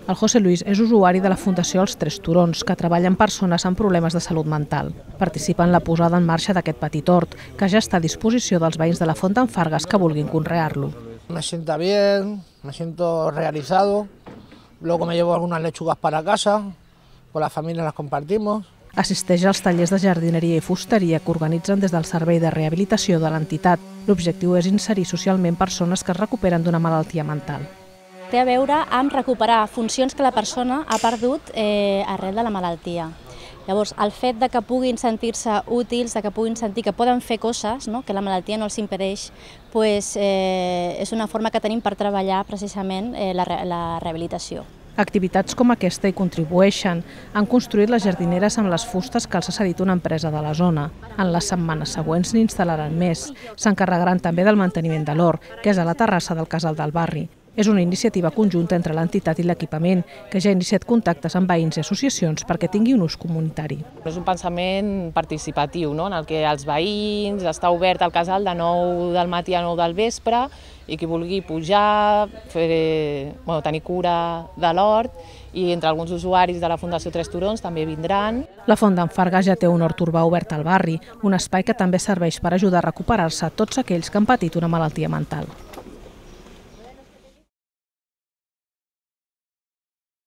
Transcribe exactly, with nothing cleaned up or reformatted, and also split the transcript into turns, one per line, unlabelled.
El José Luis és usuari de la Fundació Els Tres Turons, que treballa amb persones amb problemes de salut mental. Participa en la posada en marxa d'aquest petit hort, que ja està a disposició dels veïns de la Font d'en Fargues que vulguin conrear-lo.
Me sienta bien, me siento realizado, luego me llevo algunas lechugas para casa, con la familia las compartimos.
Assisteix als tallers de jardineria i fusteria que organitzen des del Servei de Rehabilitació de l'entitat. L'objectiu és inserir socialment persones que es recuperen d'una malaltia mental.
Té a veure amb recuperar funcions que la persona ha perdut eh, arrel de la malaltia. Llavors, el fet de que puguin sentir-se útils, de que puguin sentir que poden fer coses, no? Que la malaltia no els impedeix, pues, eh, és una forma que tenim per treballar precisament eh, la, la rehabilitació.
Activitats com aquesta hi contribueixen. Han construït les jardineres amb les fustes que els ha cedit una empresa de la zona. En les setmanes següents n'hi instal·laran més. S'encarregaran també del manteniment de l'hort, que és a la terrassa del Casal del Barri. És una iniciativa conjunta entre l'entitat i l'equipament, que ja ha iniciat contactes amb veïns i associacions perquè tingui un ús comunitari.
És un pensament participatiu, no? En el que els veïns, està obert al casal de nou del matí a nou del vespre i qui vulgui pujar, fer, bueno, tenir cura de l'hort, i entre alguns usuaris de la Fundació Tres Turons també vindran.
La Font d'en Fargues ja té un hort urbà obert al barri, un espai que també serveix per ajudar a recuperar-se tots aquells que han patit una malaltia mental.